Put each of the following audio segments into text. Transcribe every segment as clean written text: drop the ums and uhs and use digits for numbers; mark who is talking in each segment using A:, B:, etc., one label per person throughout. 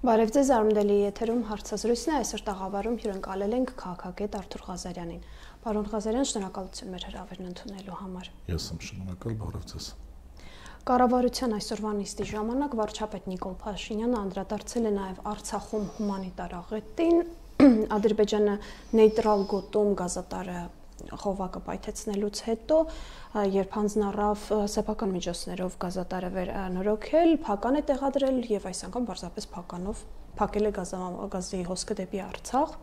A: Բարև ձեզ, Արմդելի եթերում հարցազրույցն է, այսօր տաղավարում հյուրընկալել ենք քաղաքագետ Արթուր Ղազարյանին։ Պարոն Ղազարյան, շնորհակալություն մեր հրավերն ընդունելու համար։
B: Ես եմ շնորհակալ, բարև ձեզ։
A: Կառավարության այսօրվա նիստի ժամանակ վարչապետ Նիկոլ Փաշինյանը անդրադարձել է նաև Արցախում հումանիտար աղետին, Ադրբեջանը նեյտրալ գոտում գազատարը խովակը պայթեցնելուց հետո, երբ հանձնառավ սեփական միջոցներով գազատարը վերանորոգել, փական է տեղադրել եւ այս անգամ պարզապես փականով փակել է գազի հոսքը դեպի Արցախ։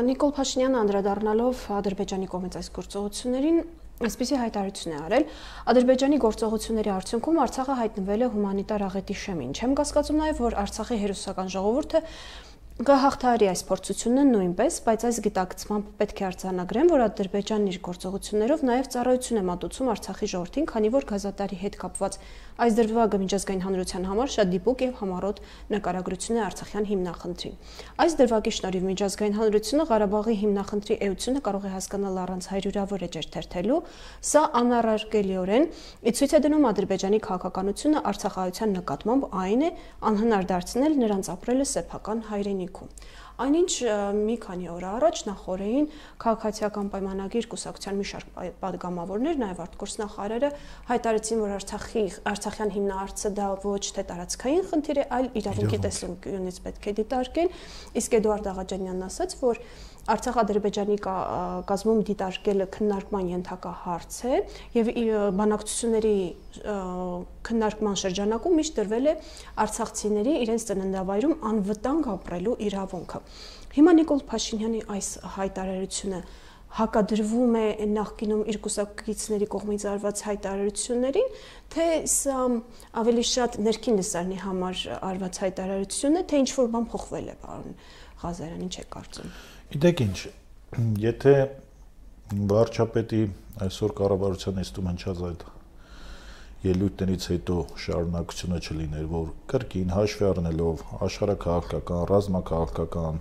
A: Նիկոլ Փաշինյանը անդրադառնալով Ադրբեջանի կողմից այս գործողություններին այսպիսի հայտարարություն է արել. Ադրբեջանի գործողությունների արդյունքում Արցախը հայտնվել է հումանիտար աղետի շեմին։ Չեմ կասկածում նաեւ, որ Արցախի հերոսական ժողովուրդը կհաղթահարի այս փորձությունը նույնպես, բայց այս գիտակցմամբ պետք է արձանագրեն, որ Ադրբեջանն իր գործողություններով նաև ծառայություն է մատուցում Արցախի ժողովրդին, քանի որ գազատարի հետ կապված այս դրվագը միջազգային հանրության համար շատ դիպուկ եւ համառոտ նկարագրություն է արցախյան հիմնախնդրին։ Այս դրվագի շնորհիվ միջազգային հանրությունը Ղարաբաղի հիմնախնդրի էությունը կարող է հասկանալ առանց հարյուրավոր էջեր թերթելու, սա անառարկելիորեն ցույց է դնում Ադրբեջանի քաղաքականությունը արցախայության նկատմամբ այն է անհնար դարձնել նրանց ապրելը սեփական հայրենիքում։ Այնինչ մի քանի օր առաջ նախորդին քաղաքացիական պայմանագիր կուսակցության մի շարք պատգամավորներ, նաև արտգործնախարարը հայտարարեցին, որ Արցախյան հիմնահարցը դա ոչ թե տարածքային խնդիր է, այլ իրավունքի տեսանկյունից պետք է դիտարկել, իսկ Էդուարդ Աղաջանյանն ասաց, որ Արցախ-Ադրբեջանի կազմում դիտարկելը քննարկման ենթակա հարց է եւ բանակցությունների քննարկման շրջանակում միշտ դրվել է արցախցիների իրենց ծննդավայրում անվտանգ ապրելու իրավունքը։ Հիմա Նիկոլ Փաշինյանի այս հայտարարությունը հակադրվում է նախկինում իր կուսակցիների կողմից արված հայտարարություններին, թե սա ավելի շատ ներքին լսարանի համար արված հայտարարություն է, թե ինչ որ բան փոխվել է, պարոն Ղազարյան, ինչ եք կարծում։
B: Գիտեք ինչ, եթե վարչապետի այսօր կառավարության նիստում հնչած այդ ելույթներից հետո շարունակությունը չլիներ, որ կրկին հաշվի առնելով աշխարհաքաղաքական, ռազմաքաղաքական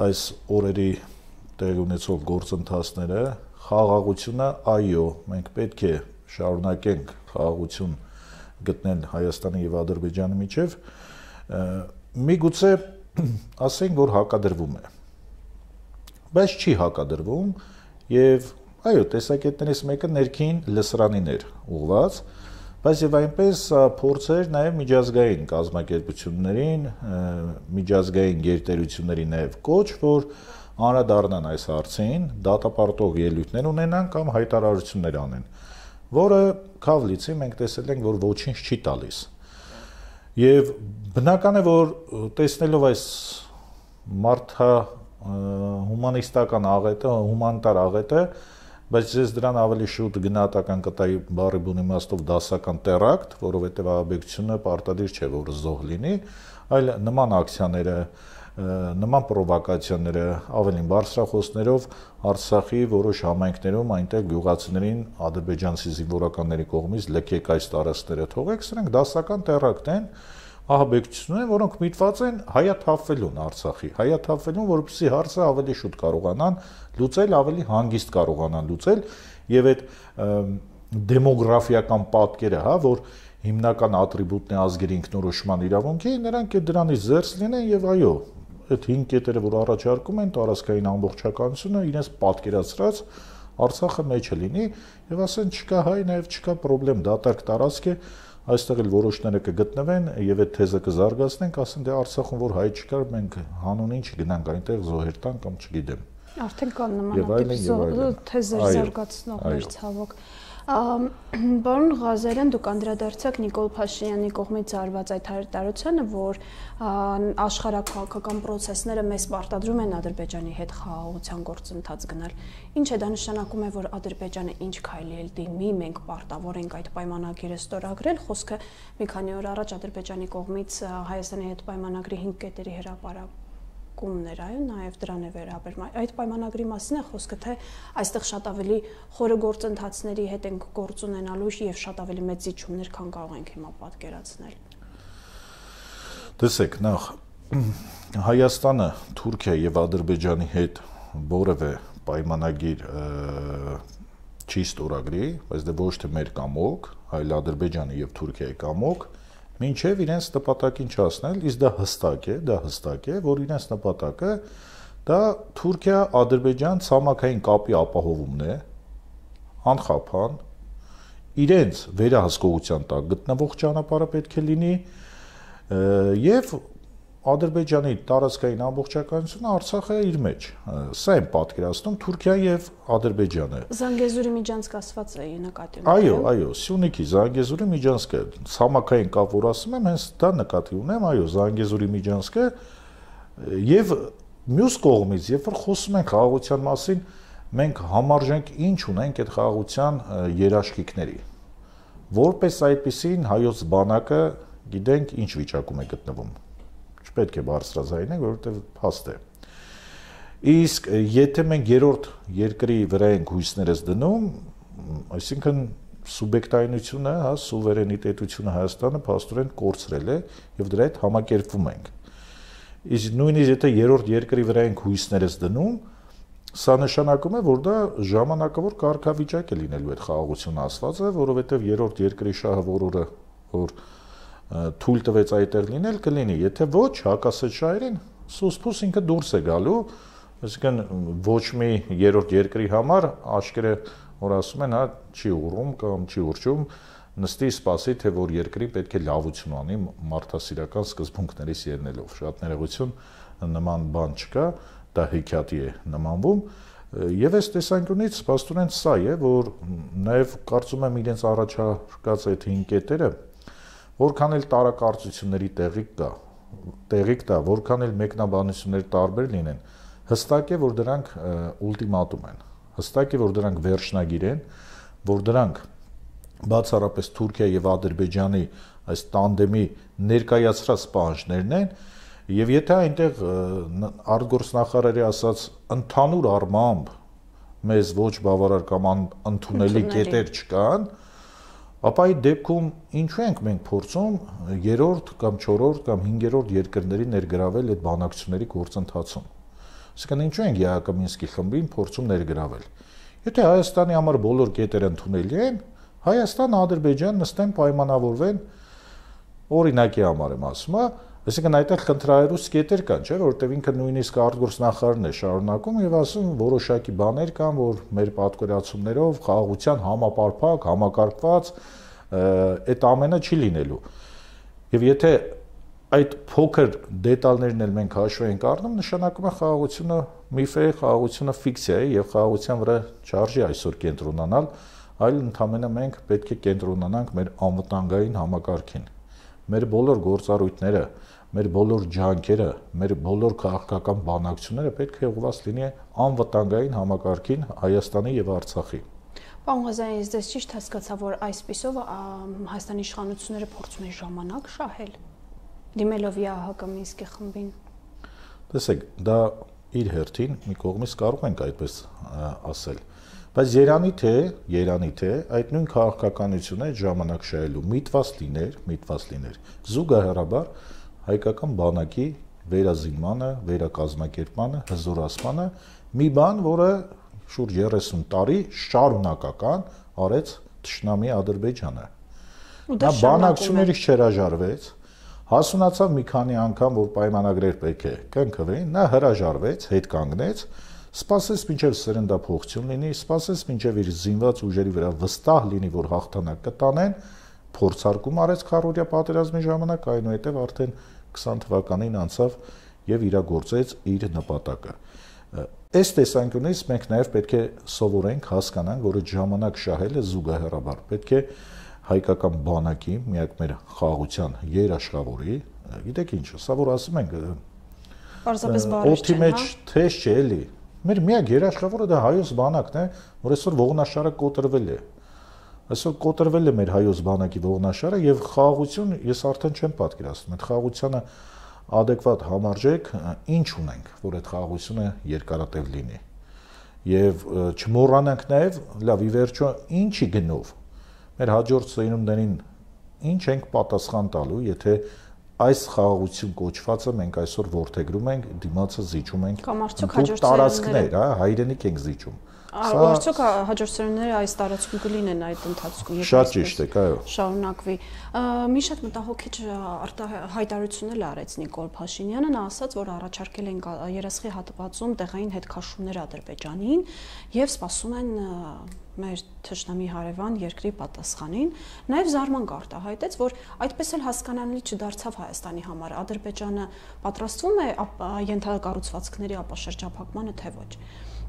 B: այս օրերի տեղի ունեցող գործընթացները, խաղաղությունը, այո, մենք պետք է շարունակենք խաղաղություն գտնել Հայաստանի եւ Ադրբեջանի միջեւ, միգուցե ասենք, որ հակադրվում է, բայց չի հակադրվում եւ այո, տեսակետներից մեկը ներքին լսարանին էր ուղղված, բայց եւ այնպես փորձեր նաեւ միջազգային կազմակերպություններին, միջազգային գերտերությունների նաեւ կոչ, որ անդրադառնան այս հարցին, դատապարտող ելույթներ ունենան կամ հայտարարություններ անեն, որը Քավլիցի մենք տեսել ենք, որ ոչինչ չի տալիս։ Եվ բնական է, որ տեսնելով այս մարդա հումանիստական աղետը, հումանիտար աղետը, բայց ես դրան ավելի շուտ գնահատական կտայի բառի բուն իմաստով դասական տերակտ, որովհետև ահաբեկչությունը պարտադիր չէ, որ զոհ լինի, այլ նման ակցիաները, նման պրովոկացիաները ավելին բարձրախոսներով Արցախի որոշ համայնքներում այնտեղ գյուղացիներին ադրբեջանցի զինվորականների կողմից լքեք այս տարածքները թողեք, սրանք դասական տերակտ են, ահաբեկչություն են, որոնք միտված են հայաթափվելուն Արցախի, հայաթափվելուն, որպեսզի հարցը ավելի շուտ կարողանան լուծել, ավելի հանգիստ կարողանան լուծել եւ այդ դեմոգրաֆիական պատկերը, հա, որ հիմնական ատրիբուտն է ազգերի ինքնորոշման իրավունքի, նրանք դրանից զերծ լինեն եւ այո, այդ 5 կետերը, որ առաջարկում են տարածքային ամբողջականությունը, իրենց պատկերացրած Արցախը մեջը լինի եւ ասեն չկա հայ, նաեւ չկա խնդրեմ, դատարկ տարածք է, այստեղ էլ որոշները կգտնվեն եւ այդ թեզը կզարգացնենք, ասեն դե Արցախում որ հայ չկար, մենք հանուն ինչ գնանք այնտեղ զոհեր տան կամ չգիտեմ։
A: Արդեն կան նմանատիպ թեզեր զարգացնողներ ցավոք։ Պարոն Ղազարյան, դուք անդրադարձաք Նիկոլ Փաշինյանի կողմից արված այդ հայտարարությանը, որ աշխարհաքաղաքական process-ները մեզ պարտադրում են Ադրբեջանի հետ խաղաղության գործընթաց գնալ։ Ինչ է դա նշանակում է, որ Ադրբեջանը ինչ քայլի էլ դիմի, մենք պարտավոր ենք այդ պայմանագիրը ստորագրել, խոսքը մի քանի օր առաջ Ադրբեջանի կողմից Հայաստանի հետ պայմանագրի 5 կետերի հրապարակ կումներ, այո, նաև դրան է վերաբերում։ Այդ պայմանագրի մասին է խոսքը, թե այստեղ շատ ավելի խորը գործընթացների հետ ենք գործ ունենալու եւ շատ ավելի մեծ զիջումներ, քան կարող ենք հիմա պատկերացնել։
B: Տեսեք, նախ Հայաստանը, Թուրքիա եւ Ադրբեջանի հետ որևէ պայմանագիր չի ստորագրի, բայց դե ոչ թե մեր կամոք, այլ Ադրբեջանի եւ Թուրքիայի կամոք մինչև իրենց նպատակին չհասնել, իսկ դա հստակ է, որ իրենց նպատակը դա Թուրքիա-Ադրբեջան ցամաքային կապի ապահովումն է, անխափան, իրենց վերահսկողության տակ գտնվող ճանապարհը պետք է լինի եւ Ադրբեջանի տարածքային ամբողջականությունը Արցախը իր մեջ։ Սա եմ պատկերացնում Թուրքիան եւ Ադրբեջանը։
A: Զանգեզուրի միջանցք ասված է նկատի ունեմ։
B: Այո, Սյունիքի Զանգեզուրի միջանցքը, ցամաքային կապ, որ ասում եմ, հենց դա նկատի ունեմ, այո, Զանգեզուրի միջանցքը եւ մյուս կողմից, երբ որ խոսում ենք խաղաղության մասին, մենք համարժենք ինչ ունենք այդ խաղաղության երաշխիքների։ Որպես այդպեսին հայոց բանակը գիտենք ինչ վիճակում է գտնվում։ Չպետք է բարձրաձայնենք, որովհետև փաստ է։ Իսկ եթե մենք երրորդ երկրի վրա ենք հույսներս դնում, այսինքն սուբյեկտայնությունը, սուվերենիտետությունը Հայաստանը փաստորեն կորցրել է եւ դրա հետ համակերպվում ենք։ Իսկ նույնիսկ եթե երրորդ երկրի վրա ենք հույսներս դնում, սա նշանակում է, որ դա ժամանակավոր կարգավիճակ է լինելու այդ խաղաղությունը ասվածը, որովհետև երրորդ երկրի շահը որը որ թույլ տվեց այդտեղ լինել կլինի, եթե ոչ հակասած շահերին սուսփուս ինքը դուրս է գալու, այսինքն ոչ մի երրորդ երկրի համար աշկերը որ ասում են, չի ուռում կամ չի ուրճում, նստի սպասի, թե որ երկրի պետք է լավություն անի մարդասիրական սկզբունքներից ելնելով։ Շատ ներողություն, նման բան չկա, դա հեքիաթի է նմանվում, եւ այս տեսանկյունից փաստորեն սա է, որ նաեւ կարծում եմ իրենց առաջարկած այդ 5 կետերը որքան էլ տարակարծությունների տեղիք տա, որքան էլ մեկնաբանությունների տարբեր լինեն, հստակ է, որ դրանք ուլտիմատում են, հստակ է, որ դրանք վերջնագիր են, որ դրանք բացառապես Թուրքիա եւ Ադրբեջանի այս տանդեմի ներկայացրած պահանջներն են, եւ եթե այնտեղ արտգործնախարարի ասած ընդհանուր առմամբ մեզ ոչ բավարար կամ ընդունելի կետեր չկան, ապա այդ դեպքում ինչու ենք մենք փորձում երրորդ կամ չորրորդ կամ հինգերորդ երկրների ներգրավել այդ բանակցությունների գործընթացում։ Այսինքն ինչու ենք Յակոմինսկի խմբին փորձում ներգրավել։ Եթե Հայաստանի համար բոլոր կետերը ընդունելի են, Հայաստան, Ադրբեջան նստեն պայմանավորվեն օրինակի համար եմ ասում, այսինքն այդտեղ խնդրահարույց կետեր կան, չէ՞, որովհետև ինքը նույնիսկ արտգործնախարարն է շարունակում եւ ասում որոշակի բաներ կան, որ մեր պատկերացումներով խաղաղության համապարփակ, համակարգված այդ ամենը չի լինելու։ Եվ եթե այդ փոքր դետալներն էլ մենք հաշվի ենք առնում, նշանակում է խաղաղությունը միֆ է, խաղաղությունը ֆիկցիա է եւ խաղաղության վրա չարժի այսօր կենտրոնանալ, այլ ընդհանրապես մենք պետք է կենտրոնանանք մեր անվտանգային համակարգին։ Մեր բոլոր գործառույթները, մեր բոլոր ջանքերը, մեր բոլոր քաղաքական բանակցությունները պետք է ուղղված լինի անվտանգային համակարգին Հայաստանի եւ Արցախի։
A: Պարոն Ղազարյան, ես դες ճիշտ հասկացա, որ այսպիսով Հայաստանի իշխանությունները փորձում են ժամանակ շահել, դիմելով Յակոմինսկի խմբին։
B: Տեսեք, դա իր հերթին մի կողմից կարող ենք այդպես ասել, բայց երանի թե այդ նույն քաղաքականությունը այդ ժամանակ շահելու միտված լիներ զուգահեռաբար հայկական բանակի վերազինմանը, վերակազմակերպմանը, հզորացմանը մի բան, որը շուրջ 30 տարի շարունակական արեց թշնամի Ադրբեջանը։ Նա բանակցություններից չհրաժարվեց, հասունացավ մի քանի անգամ, որ պայմանագրեր պետք է կնքվեին, նա հրաժարվեց, հետ կանգնեց, սպասեց մինչև սրնդափոխություն լինի, սպասեց մինչև իր զինված ուժերի վրա վստահ լինի, որ հաղթանակ կտանեն, փորձարկում արեց քառօրյա պատերազմի ժամանակ, այնուհետև արդեն 20 թվականին անցավ եւ իրագործեց իր նպատակը։ Այս տեսանկյունից մենք նաեւ պետք է սովորենք, հասկանանք, որ այդ ժամանակ շահելը զուգահեռաբար պետք է հայկական բանակի, միակ մեր խաղաղության երաշխավորի, գիտեք ինչ, սա որ ասում ենք,
A: պարզապես բարի չէ,
B: մեջ թեժ չէ էլի։ Մեր միակ երաշխավորը դա հայոց բանակն է, որ այսօր ողնաշարը կոտրվել է։ Այսօր կոտրվել է մեր հայոց բանակի ողնաշարը եւ խաղաղություն ես արդեն չեմ պատկերացնում։ Այդ խաղաղությունը adekvat համարժեք ինչ ունենք, որ այդ խաղաղությունը երկարատև լինի։ Եվ չմոռանանք նաեւ, լավ, ի վերջո ինչի գնով մեր հաջորդ սերունդերին ինչ ենք պատասխան տալու, եթե այս խաղաղություն կոչվածը մենք այսօր ворթեգրում ենք, դիմացը զիջում ենք
A: տարածքներ,
B: հայրենիք ենք զիջում։
A: Արդյոք հաջորդ սերունդները այս տարածքում կլինեն այդ ընթացքում եւ
B: շատ ճիշտ է, այո։
A: Շարունակվի։ Մի շատ մտահոգիչ հայտարարություն արեց Նիկոլ Փաշինյանը, նա ասաց, որ առաջարկել են երեսխի հատվածում տեղային հետքաշումներ Ադրբեջանին եւ սպասում են մեր թշնամի հարևան երկրի պատասխանին, նաև զարմանք արտահայտեց, որ այդպես էլ հասկանալի չդարձավ Հայաստանի համար, Ադրբեջանը պատրաստվում է ենթակառուցվածքների ապաշրջափակմանը, թե ոչ։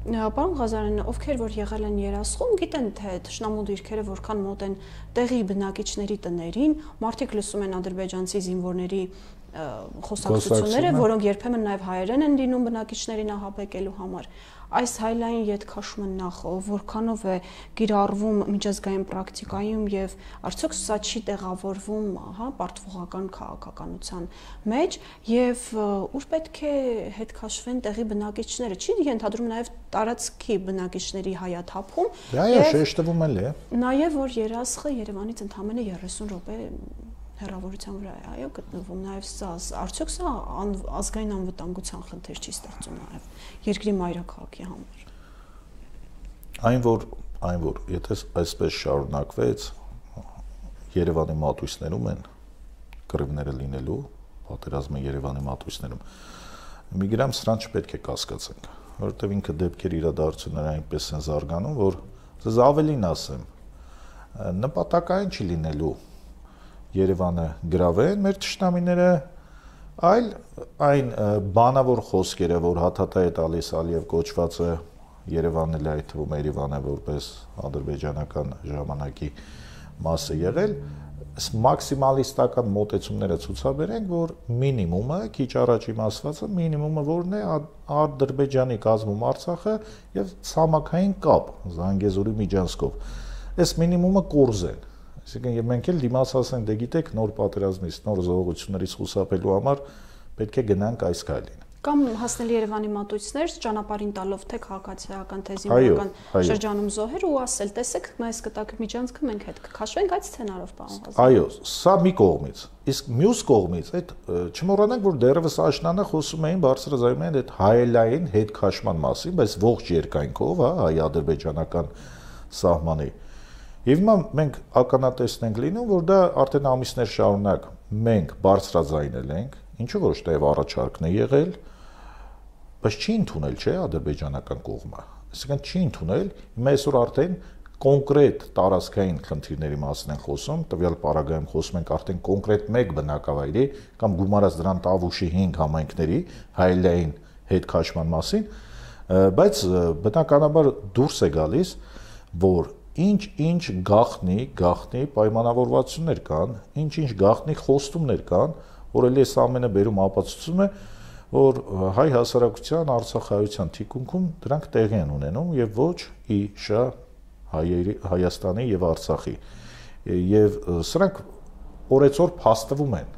A: Պարոն Ղազարյան, ովքեր որ եղել են երասխում, գիտեն թե թշնամու դիրքերը որքան մոտ են տեղի բնակիչների տներին, մարդիկ լսում են ադրբեջանցի զինվորների խոսակցությունները, որոնք երբեմն նաև հայերեն են լինում բնակիչներին ահաբեկելու համար։ Այս հայլային ետքաշումը նախ որքանով է կիրառվում միջազգային պրակտիկայում եւ արդյոք սա չի տեղավորվում, պարտվողական քաղաքականության մեջ եւ ուր պետք է հետքաշվեն տեղի բնակիչները, չի ենթադրում նաեւ տարածքի բնակիչների հայաթափում։
B: Այո, շեշտվում էլ է։
A: Նաեւ որ երասխը Երևանից ընդամենը 30 րոպե հեռավորության վրա է, այո, գտնվում նաև սա, արդյոք սա ազգային անվտանգության խնդիր չի ստեղծում նաև երկրի մայրաքաղաքի համար։
B: Այն որ եթե այսպես շարունակվեց, Երևանի մատույցներում են կռիվները լինելու, պատերազմը Երևանի մատույցներում։ Մի գրամ սրան չպետք է կասկածենք, որովհետև ինքը դեպքեր իրադարձությունները այնպես են զարգանում, որ ձեզ ավելին ասեմ, նպատակային չի լինելու Երևանը գրավեն մեր թշնամիները, այլ այն բանավոր խոսքերը, որ հաթաթա է տալիս Ալիև կոչվածը Երևանն էլ այդ թվում Երևանը որպես ադրբեջանական ժամանակի մաս է եղել, մաքսիմալիստական մոտեցումները ցուցաբերենք, որ մինիմումը, քիչ առաջ իմացվածը մինիմումը որն է Ադրբեջանի կազմում Արցախը եւ ցամաքային կապ Զանգեզուրի միջանցքով։ Այս մինիմումը կորզեն։ Այսինքն մենք էլ դիմացած ենք, դե գիտեք, նոր պատերազմից, նոր զողողություններից խուսափելու համար պետք է գնանք այս քայլին։
A: Կամ հասնել Երևանի մատույցներ, ճանապարհին տալով թե քաղաքացիական, թե զինվորական շրջանում զոհեր ու ասել, տեսեք, մեզ կտակ միջանցքը մենք հետ կքաշվենք այդ սցենարով, պարոն Ղազարյան։
B: Այո, սա մի կողմից։ Իսկ մյուս կողմից, այդ չմոռանանք, որ դեռևս աշնանը խոսում էին բարձրաձայնում են այդ հայելային հետքաշման մասին, բայց ողջ երկայնքով, հայ-ադրբեջանական սահմանի։ Եվ հիմա մենք ականատեսն ենք լինում, որ դա արդեն ամիսներ շարունակ մենք բարձրաձայնել ենք, ինչու ոչ թե առաջարկն է եղել, բայց չի ընդունել, չէ, ադրբեջանական կողմը։ Այսինքն չի ընդունել, հիմա այսօր արդեն կոնկրետ տարածքային խնդիրների մասին են խոսում, տվյալ պարագայում խոսում ենք արդեն կոնկրետ մեկ բնակավայրի կամ գումարած դրան Տավուշի 5 համայնքների հայելային հետքաշման մասին, բայց բնականաբար դուրս է գալիս, որ ինչ գաղտնի պայմանավորվածություններ կան, ինչ գաղտնի խոստումներ կան, որ էլի այս ամենը բերում ապացուցում է, որ հայ հասարակության արցախայության թիկունքում դրանք տեղի են ունենում եւ ոչ իշա Հայաստանի եւ Արցախի։ Եվ սրանք օրեցօր փաստվում են։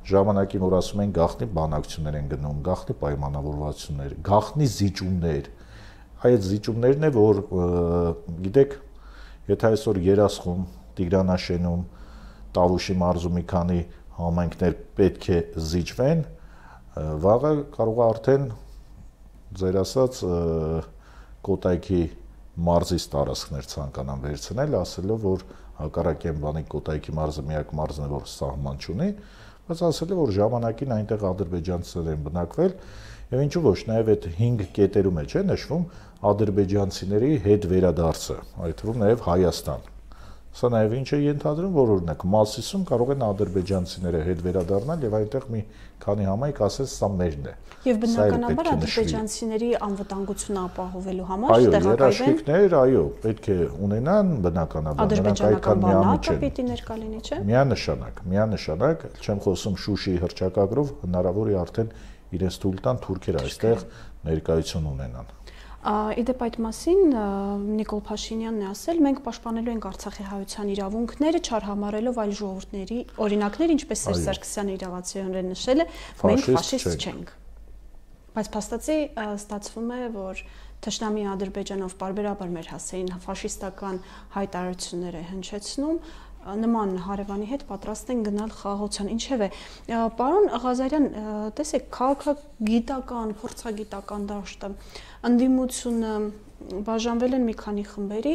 B: Ժամանակին որ ասում են գաղտնի բանակցություններ են գնում, գաղտնի պայմանավորվածություններ, գաղտնի զիջումներ, այդ զիջումներն է, որ գիտեք, եթե այսօր Երասխում, Տիգրանաշենում, Տավուշի մարզում մի քանի համայնքներ պետք է զիջվեն, վաղը կարող է արդեն ձեր ասած Կոտայքի մարզից տարածքներ ցանկանան վերցնել, ասելով, որ հակառակեն բանի Կոտայքի մարզը միակ մարզն է, որ սահման չունի, բայց ասելով, որ ժամանակին այնտեղ ադրբեջանցիներ են բնակվել, եւ ինչու ոչ, նաեւ այդ 5 կետերում է, չէ, նշվում ադրբեջանցիների հետ վերադարձը, այդ թվում նաեւ Հայաստան։ Սա նաև ինչ է ենթադրում, որ օրինակ Մասիսում կարող են ադրբեջանցիները հետ վերադառնալ եւ այնտեղ մի քանի համայնք ասես սա մերն է։
A: Եվ բնականաբար ադրբեջանցիների անվտանգությունը ապահովելու համար տեղակայվեն։
B: Երաշխիքներ, այո, պետք է ունենան բնականաբար, նրանք այդքան միամիտ չեն։
A: Պիտի ներկա լինի, չէ՞։
B: Միանշանակ, չեմ խոսում Շուշիի հռչակագրով, հնարավոր է արդեն իրենց թույլ տան թուրքերը այստեղ ներկայություն ունենան։
A: Իդեպ այդ մասին Նիկոլ Փաշինյանն է ասել, մենք պաշտպանելու ենք Արցախի հայության իրավունքները, չարհամարելով այլ ժողովուրդների օրինակներ, ինչպես Սերժ Սարգսյանը իրավացիորեն նշել է, մենք ֆաշիստ չենք։ Բայց փաստացի ստացվում է, որ թշնամի Ադրբեջանով պարբերաբար մեր հասցեին ֆաշիստական հայտարարություններ է հնչեցնում, նման հարևանի հետ պատրաստ են գնալ խաղաղության։ Ինչևէ, պարոն Ղազարյան, տեսեք, քաղաքագիտական, փորձագիտական դաշտը, ընդդիմությունը բաժանվել են մի քանի խմբերի,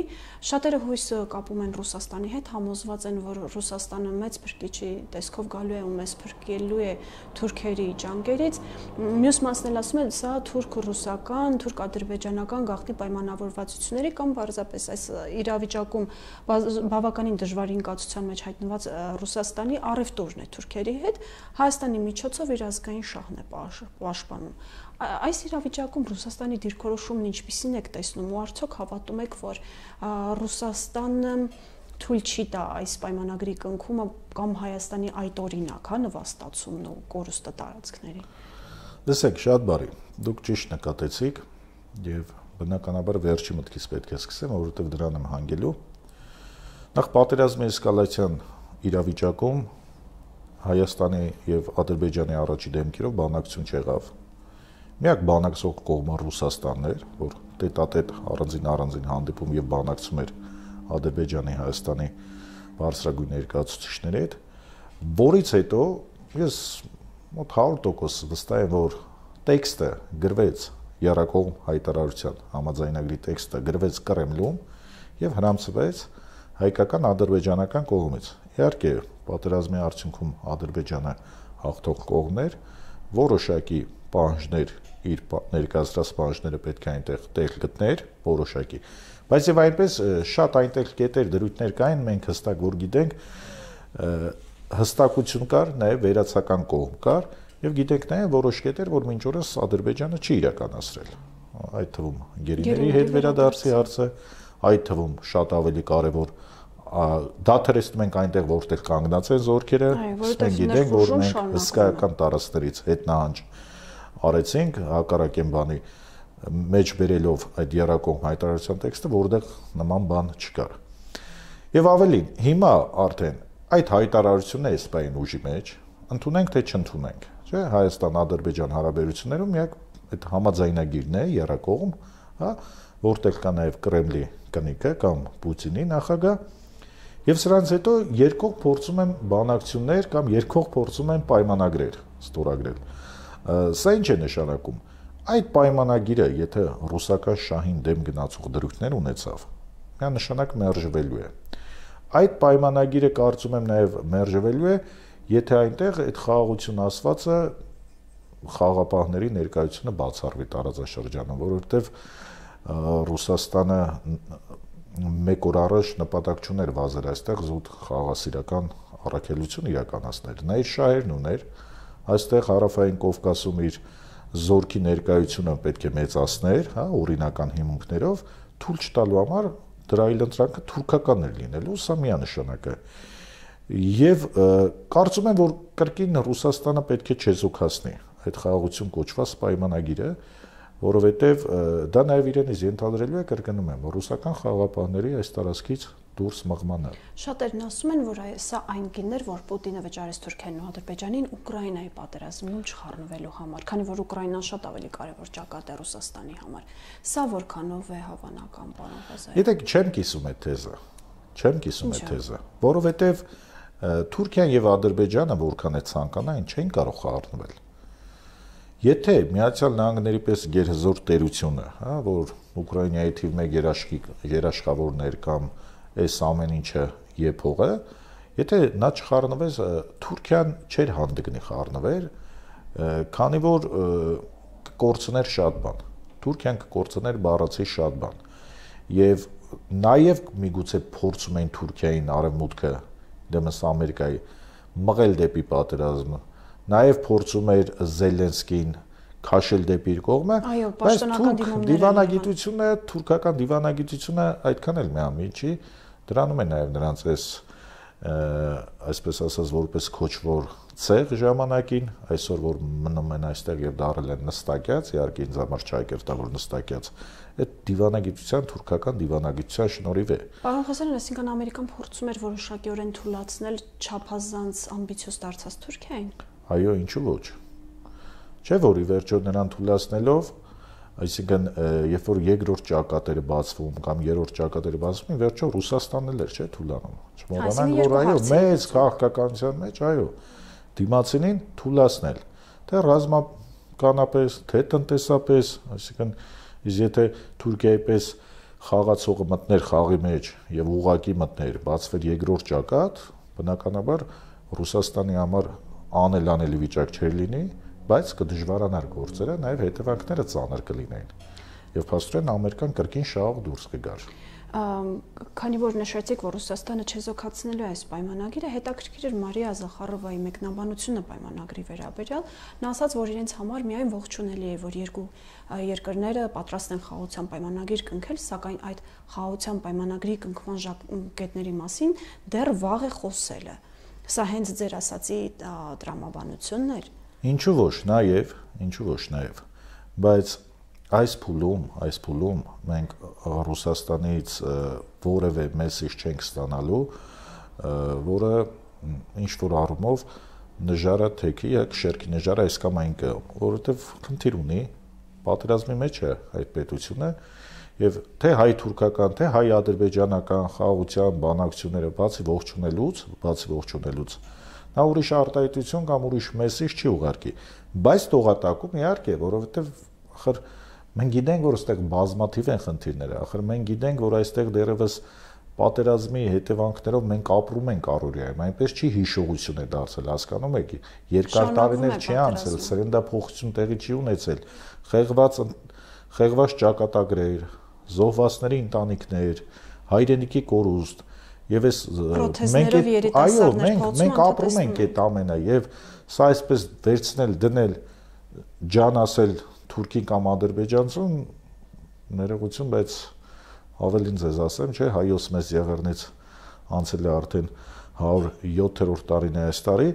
A: շատերը հույսը կապում են Ռուսաստանի հետ, համոզված են, որ Ռուսաստանը մեծ փրկիչի տեսքով գալու է ու մեզ փրկելու է թուրքերի ջանքերից։ Մյուս մասն էլ ասում են, սա թուրք-ռուսական, թուրք-ադրբեջանական գաղտնի պայմանավորվածությունների կամ պարզապես այս իրավիճակում բավականին դժվարին կացության մեջ հայտնված Ռուսաստանի առևտուրն է թուրքերի հետ, Հայաստանի միջոցով իր ազգային շահն է պաշտպանում։ Այս իրավիճակում Ռուսաստանի դիրքորոշումն ինչպիսին եք տեսնում ու արդյոք հավատում եք, որ Ռուսաստանը թույլ չի տա այս պայմանագրի կնքումը կամ Հայաստանի այդ օրինակ, նվաստացումն ու կորուստը տարածքների։
B: Լսեք, շատ բարի, դուք ճիշտ նկատեցիք եւ բնականաբար վերջի մտքից պետք է սկսեմ, որովհետեւ դրան եմ հանգելու։ Նախ պատերազմի էսկալացիան իրավիճակում Հայաստանի եւ Ադրբեջանի առաջի դեմքերով բանակցություն չեղավ։ Միակ բանակցող կողմը Ռուսաստանն էր, որ տետատետ առանձին հանդիպում եւ բանակցում էր Ադրբեջանի, Հայաստանի բարձրագույն ներկայացուցիչների հետ, որից հետո ես մոտ 100% վստահ եմ, որ տեքստը գրվեց Եռակողմ հայտարարության համաձայնագրի տեքստը գրվեց Կրեմլում եւ հրամցվեց հայկական ադրբեջանական կողմից։ Իհարկե, պատերազմի արդյունքում Ադրբեջանը հաղթող կողմն էր, որոշակի պահանջներ իր ներկայացրած պահանջները պետք է այնտեղ տեղ գտներ որոշակի, բայց եւ այնպես շատ այնտեղ կետեր դրույթներ կային, մենք հստակ որ գիտենք հստակություն կար, նաեւ վերացական կողմ կար եւ գիտենք նաեւ որոշ կետեր, որ մինչ օրս Ադրբեջանը չի իրականացրել, այդ թվում գերիների հետ վերադարձի հարցը, այդ թվում շատ ավելի կարեւոր դաթրեցնում ենք այնտեղ որտեղ կանգնած են զորքերը, մենք գիտենք որ մենք հսկայական տարածքներից հետնահանջ արեցինք հակառակ են բանի մեջ բերելով այդ Եռակողմ հայտարարության տեքստը, որտեղ նման բան չկար։ Եվ ավելին, հիմա արդեն այդ հայտարարությունն է սպային ուժի մեջ, ընդունենք թե չընդունենք, չէ՞, Հայաստան-Ադրբեջան հարաբերություններում միակ այդ համաձայնագիրն է Եռակողմ, հա, որտեղ կա նաև Կրեմլի կնիկը կամ Պուտինի նախագահ, եւ սրանց հետո երկող փորձում են բանակցություններ կամ երկող փորձում են պայմանագրեր ստորագրել։ Սա ինչ է նշանակում։ Այդ պայմանագիրը, եթե ռուսական շահին դեմ գնացող դրույթներ ունեցավ, միանշանակ մերժվելու է։ Այդ պայմանագիրը կարծում եմ նաև մերժվելու է, եթե այնտեղ այդ խաղաղություն ասվածը խաղապահների ներկայությունը բացառվի տարածաշրջանում, որովհետև Ռուսաստանը մեկ օր առաջ նպատակ չուներ վազել այստեղ զուտ խաղաղասիրական առաքելություն իրականացնել։ Նա իր շահերն ուներ, այստեղ Հարավային Կովկասում իր զորքի ներկայությունը պետք է մեծացներ, հա, օրինական հիմունքներով, թույլ չտալու համար դրա այլընտրանքը թուրքական էր լինելու, սա միանշանակ է։ Եվ կարծում եմ, որ կրկին Ռուսաստանը պետք է չեզոքացնի այդ խաղաղություն կոչված պայմանագիրը, որովհետև դա նաև իրենից ենթադրելու է, կրկնում եմ, ռուսական խաղաղապահների այս տարածքից դուրս մղմանը։
A: Շատերն ասում են, որ սա այն գինն էր, որ Պուտինը վճարեց Թուրքիային ու Ադրբեջանին Ուկրաինայի պատերազմում չխառնվելու համար, քանի որ Ուկրաինան շատ ավելի կարևոր ճակատ է Ռուսաստանի համար։ Սա որքանով է հավանական, պարոն Ղազարյան։
B: Գիտեք, չեմ կիսում այդ թեզը, որովհետև Թուրքիան եւ Ադրբեջանը որքան է ցանկանային, չեն կարող խառնվել։ Եթե Միացյալ Նահանգների պես գերհզոր տերությունը, հա, որ Ուկրաինայի թիվ 1 երաշխավորներ կամ այս ամեն ինչը եփողը, եթե նա չխառնվեց, Թուրքիան չէր հանդգնի խառնվեր, քանի որ կկորցներ շատ բան։ Թուրքիան կկորցներ բառացի շատ բան։ Եվ նաև միգուցե փորձում էին Թուրքիային արևմուտքը դեմս Ամերիկայի մղել դեպի պատերազմը, նաև փորձում էր Զելենսկին քաշել դեպի իր կողմը, բայց դիվանագիտությունը, թուրքական դիվանագիտությունը այդքան էլ միամիտ չի, դրանում է նաև նրանց այսպես ասած որպես քոչվոր ցեղ ժամանակին, այսօր որ մնում են այստեղ եւ դարել են նստակյաց, իհարկե ինձ համար չայկերտավոր նստակյաց, այդ դիվանագիտության թուրքական դիվանագիտության շնորհիվ է։
A: Պարոն Ղազարյան, այսինքն Ամերիկան փորձում էր որոշակիորեն թույլատրել չափազանց ամբիցիոզ դարձած Թուրքիային։
B: Այո, ինչու ոչ։ Չէ՞ որ ի վերջո նրան թույլատնելով, այսինքն երբ որ երկրորդ ճակատերը բացվում կամ երրորդ ճակատերը բացվում, ի վերջո Ռուսաստանն էլ էր, չէ՞, թույլանում։ Չմոռանանք, որ այո, մեծ քաղաքականության մեջ, այո, դիմացինին թույլատնել, թե ռազմականապես, թե տնտեսապես, այսինքն եթե Թուրքիայի պես խաղացողը մտներ խաղի մեջ եւ ուղակի մտներ, բացվեր երկրորդ ճակատ, բնականաբար Ռուսաստանի համար անելանելի վիճակ չէր լինի, բայց կդժվարանար գործերը, նաեւ հետևանքները ծանր կլինեին։ Եվ փաստորեն Ամերիկան կրկին շահող դուրս կգար։
A: Քանի որ նշեցիք, որ Ռուսաստանը չեզոքացնելու է այս պայմանագիրը, հետաքրքիր էր Մարիա Զախարովայի մեկնաբանությունը պայմանագրի վերաբերյալ, նա ասաց, որ իրենց համար միայն ողջունելի է, որ երկու երկրները պատրաստ են խաղաղության պայմանագիր կնքել, սակայն այդ խաղաղության պայմանագրի կնքման կետների մասին դեռ վաղ է խոսելը։ Սա հենց ձեր ասացի տրամաբանությունն էր։
B: Ինչու ոչ նաև, բայց այս փուլում մենք Ռուսաստանից որևէ մեսիջ չենք ստանալու, որը ինչ որ առումով նժարը թեքի է, շերքի նժարը այս կամ այն կը, որովհետև խնդիր ունի, պատերազմի մեջ է այդ պետությունը, եւ թե հայ-թուրքական, թե հայ-ադրբեջանական խաղաղության բանակցությունները բացի ողջունելուց, նա ուրիշ արտահայտություն կամ ուրիշ մեսիջ չի ուղարկի, բայց տողատակում իհարկե, որովհետև ախր մենք գիտենք, որ այստեղ բազմաթիվ են խնդիրները, ախր մենք գիտենք, որ այստեղ դեռևս պատերազմի հետևանքներով մենք ապրում ենք առօրյայում, այնպես չի հիշողություն է դարձել, հասկանում եք, երկար տարիներ չի անցել, սերնդափոխություն տեղի չի ունեցել, խեղված ճակատագրեր, զոհվածների ընտանիքներ, հայրենիքի կորուստ, եւ այս մենք ապրում ենք այդ ամենը եւ սա այսպես վերցնել, դնել, ջան ասել Թուրքին կամ ադրբեջանցուն ներողություն, բայց ավելին ձեզ ասեմ, չէ, հայոց մեծ եղեռնից անցել է արդեն 107-րդ տարին է այս տարի,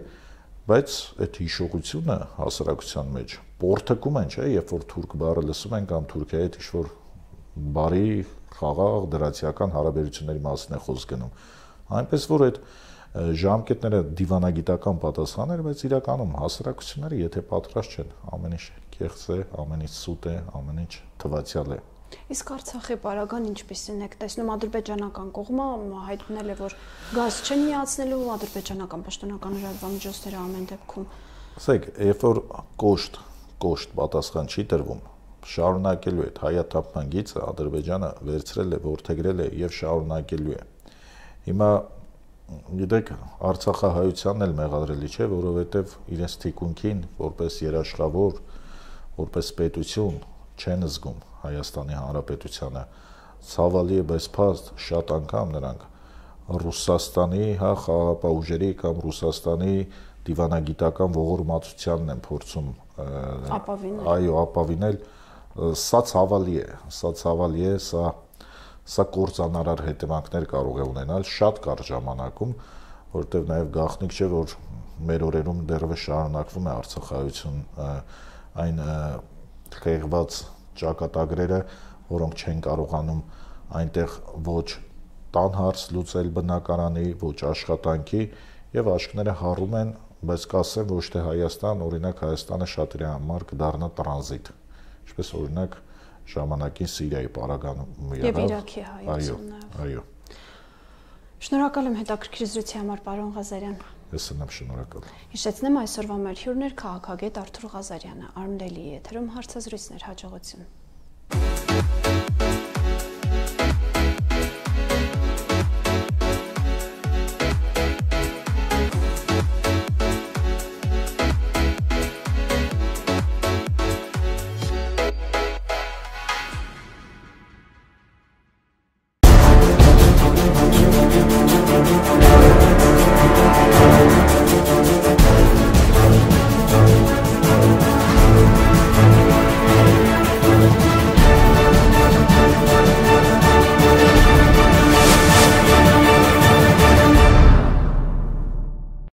B: բայց այդ հիշողությունը հասարակության մեջ պորտկում են, չէ, երբ որ թուրք բառը լսում են կամ Թուրքիայի հետ ինչ-որ բարի, խաղաղ, դրացիական հարաբերությունների մասին է խոսք գնում։ Այնպես որ այդ ժամկետները դիվանագիտական պատասխան էր, բայց իրականում հասարակությունները եթե պատրաստ չեն, ամեն ինչ կեղծ է, ամեն ինչ սուտ է, ամեն ինչ թվացial է։
A: Իսկ Արցախի պարագան ինչպիսին եք տեսնում, ադրբեջանական կողմը հայտնել է, որ գազ չեն միացնելու, ադրբեջանական պաշտոնական լրատվամիջոցները ամեն դեպքում։
B: Ասեք, երբ որ կոշտ պատասխան չի տրվում, շարունակելու է հայաթափման գիծը, Ադրբեջանը վերցրել է, որդեգրել է եւ շարունակելու է։ Հիմա գիտեք, Արցախահայությանն էլ մեղադրելի չէ, որովհետեւ իրենց թիկունքին որպես երաշխավոր, որպես պետություն չեն զգում Հայաստանի Հանրապետությանը, ցավալի է, բայց փաստ շատ անգամ նրանք Ռուսաստանի խաղաղապահ ուժերի կամ Ռուսաստանի դիվանագիտական ողորմածությանն են փորձում ապավինել, սա ցավալի է, սա կործանարար հետևանքներ կարող է ունենալ շատ կարճ ժամանակում, որովհետև նաև գաղտնիք չէ, որ մեր օրերում դեռևս շարունակվում է Արցախահայություն, այն խեղված ճակատագրերը, որոնք չեն կարողանում այնտեղ ոչ տան հարց լուծել բնակարանի, ոչ աշխատանքի եւ աշկները հառում են, բայց կասեմ ոչ թե Հայաստան, օրինակ Հայաստանը շատերի համար կդառնա տրանզիտ, ինչպես օրինակ ժամանակին Սիրիայի պարագայում
A: եւ Իրաքի հայությունն։
B: Այո։
A: Շնորհակալ եմ հետաքրքիր զրույցի համար, պարոն Ղազարյան։
B: Ես եմ շնորհակալ։
A: Հիշեցնեմ այսօրվա մեր հյուրն էր քաղաքագետ Արթուր Ղազարյանը, Armdeli եթերում հարցազրույցներ, հաջողություն։